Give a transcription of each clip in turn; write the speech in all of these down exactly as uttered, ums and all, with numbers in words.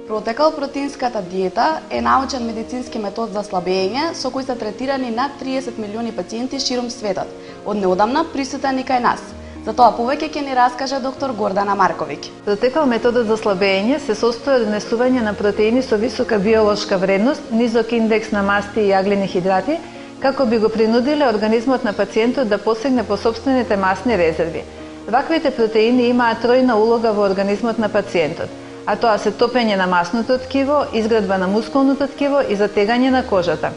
Протекал протеинската диета е научен медицински метод за слабење со кој се третирани над триесет милиони пациенти широм светот, од неодамна присутен и кај нас. За тоа повеќе ќе ни раскаже доктор Гордана Марковиќ. Протекал методот за слабење се состои од внесување на протеини со висока биолошка вредност, низок индекс на масти и јаглени хидрати, како би го принудиле организмот на пациентот да посегне по сопствените масни резерви. Ваквите протеини имаат тројна улога во организмот на пациентот, а тоа се топење на масното ткиво, изградба на мускулното ткиво и затегање на кожата.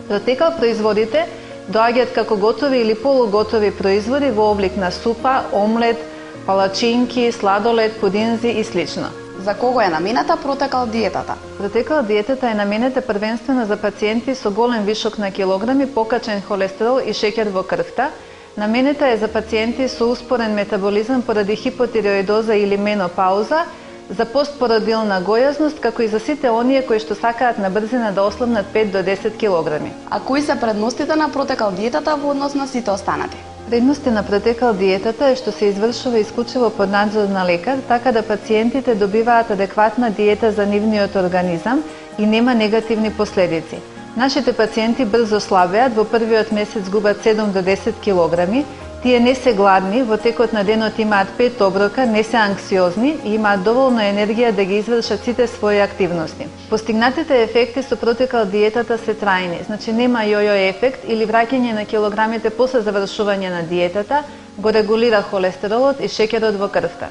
Протекал производите доаѓаат како готови или полуготови производи во облик на супа, омлет, палачинки, сладолед, пудинзи и слично. За кого е наменета Протекал диетата? Протекал диетата е наменета првенствено за пациенти со голем вишок на килограми, покачен холестерол и шеќер во крвта. Наменета е за пациенти со успорен метаболизам поради хипотиреоидоза или менопауза, за постпородилна гојазност, како и за сите оние кои што сакаат на брзина да ослабнат пет до десет килограми. А кои се предностите на Протекал диетата во однос на сите останати? Предности на Протекал диетата е што се извршува исклучиво под надзор на лекар, така да пациентите добиваат адекватна диета за нивниот организам и нема негативни последици. Нашите пациенти брзо слабеат, во првиот месец губат седум до десет килограми, тие не се гладни, во текот на денот имаат пет оброка, не се анксиозни и имаат доволно енергија да ги извршат сите своји активности. Постигнатите ефекти со Протекал диетата се трајни, значи нема јојо ефект или враќање на килограмите после завршување на диетата, го регулира холестеролот и шеќерот во крвта.